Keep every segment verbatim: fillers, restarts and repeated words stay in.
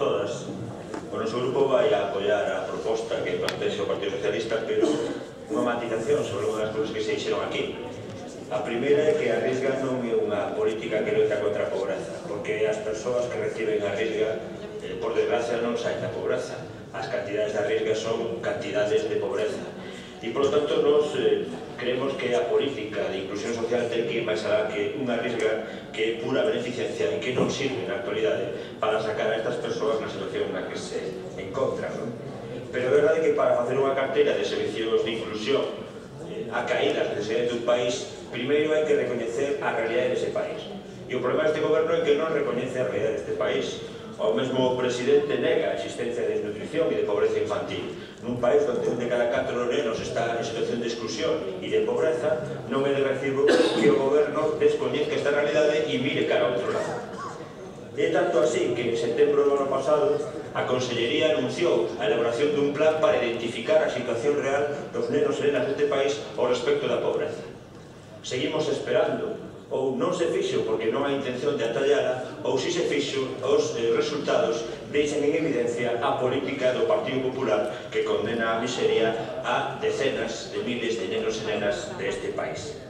todas. O noso grupo vai a apoiar a proposta que plantexa o Partido Socialista, pero unha matización sobre unha das cousas que se dixeron aquí. A primeira é que a Risga non é unha política que loita contra a pobreza, porque as persoas que reciben a Risga, eh, por desgracia, non saen da pobreza. As cantidades da Risga son cantidades de pobreza. E, por lo tanto, nos eh, creemos que a política de inclusión social ten que ir máis alá que unha Risga que é pura beneficencia e que non sirve na actualidade para sacar a estas persoas na situación na que se encontran, non? Pero é verdade que para facer unha carteira de servicios de inclusión eh, a caídas de necesidades dun país, primeiro hai que recoñecer a realidade dese país. E o problema deste goberno é que non recoñece a realidade deste país. O mesmo presidente nega a existencia de desnutrición e de pobreza infantil. Nun país onde un de cada catro nenos está en situación de exclusión e de pobreza, non é de recibo que o goberno descoñezca esta realidade e mire cara a outro lado. É tanto así que en setembro do ano pasado a Consellería anunciou a elaboración dun plan para identificar a situación real dos nenos e nenas deste país ao respecto da pobreza. Seguimos esperando, ou non se fixo porque non hai intención de atallara, ou si se fixo, os eh, resultados deixan en evidencia a política do Partido Popular que condena a miseria a decenas de miles de nenos e nenas deste país.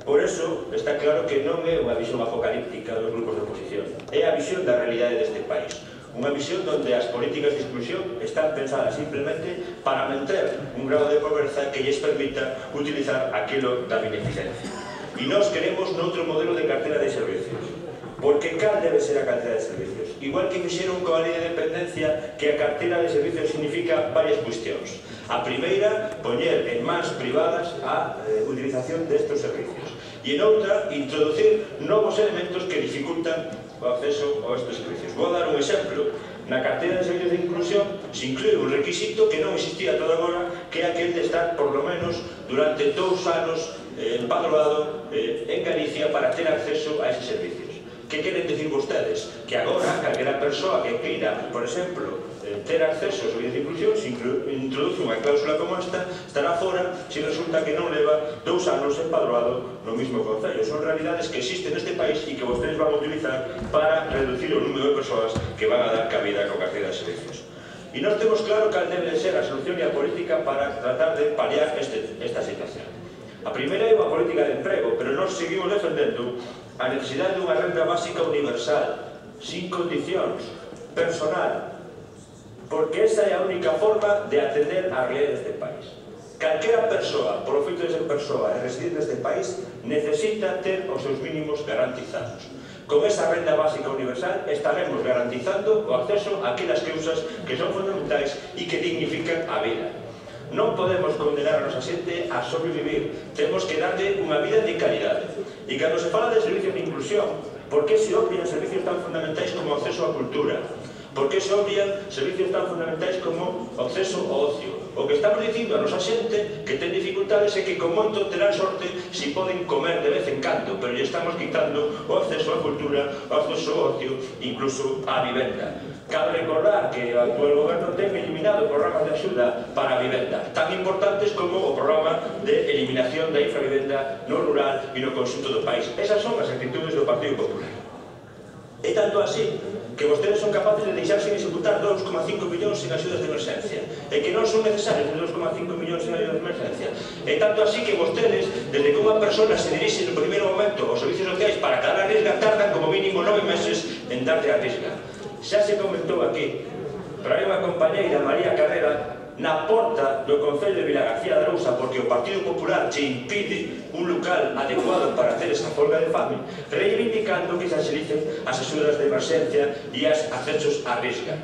Por eso, está claro que non é unha visión apocalíptica dos grupos de oposición, é a visión da realidade deste país. Unha visión onde as políticas de exclusión están pensadas simplemente para manter un grado de pobreza que lles permita utilizar aquilo da beneficencia. E nós queremos noutro modelo de cartera de servicios. Porque cal debe ser a cartera de servicios? Igual que fixeron coa lei de dependencia, que a cartera de servicios significa varias cuestións. A primeira, poñer en mans privadas a eh, utilización destes servicios. E en outra, introducir novos elementos que dificultan o acceso a estes servicios. Vou dar un exemplo. Na cartera de servicios de inclusión se inclúe un requisito que non existía todo agora, que é aquel de estar por lo menos durante dous anos eh, empadroado eh, en Galicia para ter acceso a eses servicios. Que queren dicir vostedes? Que agora, calquera persoa que queira, por exemplo, eh, ter acceso aos servicios de inclusión, se introduce unha cláusula como esta, estará fora se resulta que non leva dous anos empadroado no mismo concello. Son realidades que existen neste país e que vostedes van a utilizar para reducir o número de persoas que van a dar cabida coa cartera de servicios. E nós temos claro cal debe de ser a solución e a política para tratar de paliar este, esta situación. A primeira é unha política de emprego, pero nós seguimos defendendo a necesidade dunha renda básica universal, sin condicións, personal, porque esa é a única forma de atender a realidade deste país. Calquera persoa, por o feito de ser persoa e residir neste país, necesita ter os seus mínimos garantizados. Con esa renda básica universal estaremos garantizando o acceso a aquelas cousas que son fundamentais e que dignifican a vida. Non podemos condenar a nosa xente a sobrevivir, temos que darle unha vida de calidade. E cando se fala de servicios de inclusión, por que se obvian servicios tan fundamentais como o acceso á cultura? Por que se obvian servicios tan fundamentais como o acceso ao ocio? O que estamos dicindo a nosa xente que ten dificultades é que con moito terán sorte si poden comer de vez en cando, pero lle estamos quitando o acceso á cultura, o acceso ao ocio, incluso á vivenda. Cabe recordar que o actual goberno ten eliminado programas de axuda para a vivenda, tan importantes como o programa de eliminación da infravivenda no rural e no conxunto do país. Esas son as actitudes do Partido Popular. É tanto así que vostedes son capaces de deixar sin executar dous coma cinco millóns en axudas de emerxencia e que non son necesarios os dous coma cinco millóns en axudas de emerxencia. É tanto así que vostedes, desde que unha persona se dirixe no primeiro momento aos servicios sociais para quedar a Risga, tardan como mínimo nove meses en darlle a Risga. Xa se comentou aquí, pero hai unha compañeira, María Carrera, na porta do Concello de Vilagarcía de Arousa, porque o Partido Popular che impide un local adecuado para hacer esa folga de fame, reivindicando que se axilicen as axudas de emerxencia e as accesos á Risga.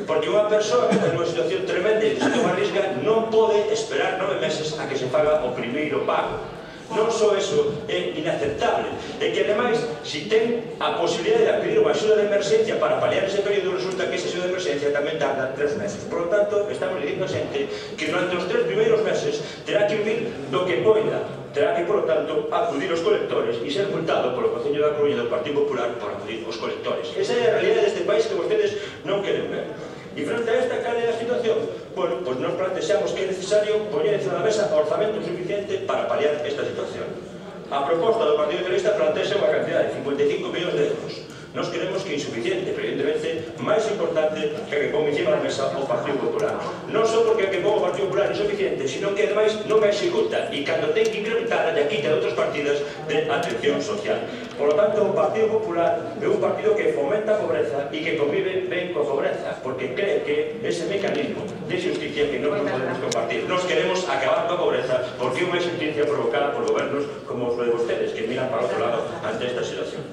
Porque unha persoa que está nunha situación tremenda e necesita unha Risga non pode esperar nove meses a que se faga o primeiro pago. Non só eso é inaceptable, é que ademais, se ten a posibilidade de acudir unha axuda de emerxencia para paliar ese período, resulta que esa axuda de emerxencia tamén tarda tres meses. Por lo tanto, estamos dicindo a xente que durante os tres primeiros meses terá que vivir do que poida, terá que, por lo tanto, acudir aos colectores e ser multado polo Concello da Coruña do Partido Popular por acudir aos colectores. Esa é a realidade deste país que vostedes non queren ver. E frente a esta cal é a situación? Bueno, pois nos plantexamos que é necesario poñer encima da mesa orzamento suficiente para paliar esta situación. A proposta do Partido Socialista plantexa unha cantidad de cincuenta e cinco millóns de euros. Nos queremos que é insuficiente, pero evidentemente máis importante que que pon encima da mesa o Partido Popular. Non só porque a que pon o Partido Popular é insuficiente, sino que ademais non a executa e cando ten que incrementar a quita de outras partidas de atención social. Por lo tanto, o Partido Popular é un partido que fomenta a pobreza e que convive ben coa pobreza, porque cree que ese mecanismo de justicia que non podemos compartir. Nos queremos acabar coa pobreza porque é unha injusticia provocada por gobernos como os de vostedes, que miran para outro lado ante esta situación.